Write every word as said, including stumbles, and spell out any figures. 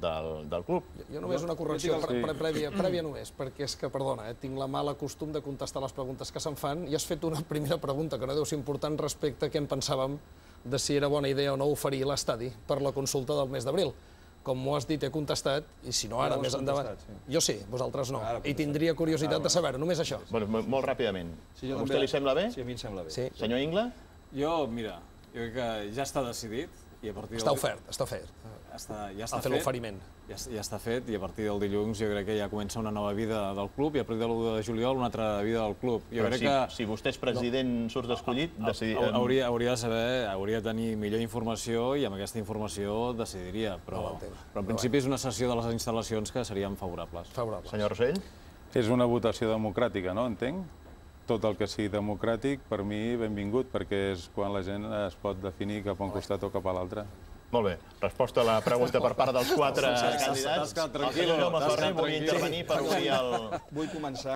del, del club. Jo només una correcció pre pre prèvia, prèvia només, perquè és que, perdona, eh, tinc la mala costum de contestar les preguntes que se'n fan i has fet una primera pregunta que no deu ser important respecte a què en pensàvem de si era bona idea o no oferir l'estadi per la consulta del mes d'abril. Com m'ho has dit, he contestat, i si no ara, més endavant... Jo sí, vosaltres no. I tindria curiositat de saber-ho, només això. Molt ràpidament. A vostè li sembla bé? Sí, a mi em sembla bé. Senyor Ingla? Jo, mira, jo crec que ja està decidit i a partir del... Està ofert, està ofert. Ja està fet l'oferiment. Ja està fet i a partir del dilluns jo crec que ja comença una nova vida del club i a partir de l'u de juliol una altra vida del club. Jo crec que... Si vostè és president, surt escollit, hauria de saber, hauria de tenir millor informació i amb aquesta informació decidiria, però en principi és una sessió de les instal·lacions que serien favorables. Senyor Rosell? És una votació democràtica, no? Entenc? Tot el que sigui democràtic, per mi, benvingut, perquè és quan la gent es pot definir cap a un costat o cap a l'altre. Molt bé. Resposta a la pregunta per part dels quatre candidats. T'has quedat tranquil. El senyor Jaume Ferrer volia intervenir per obrir el... Vull començar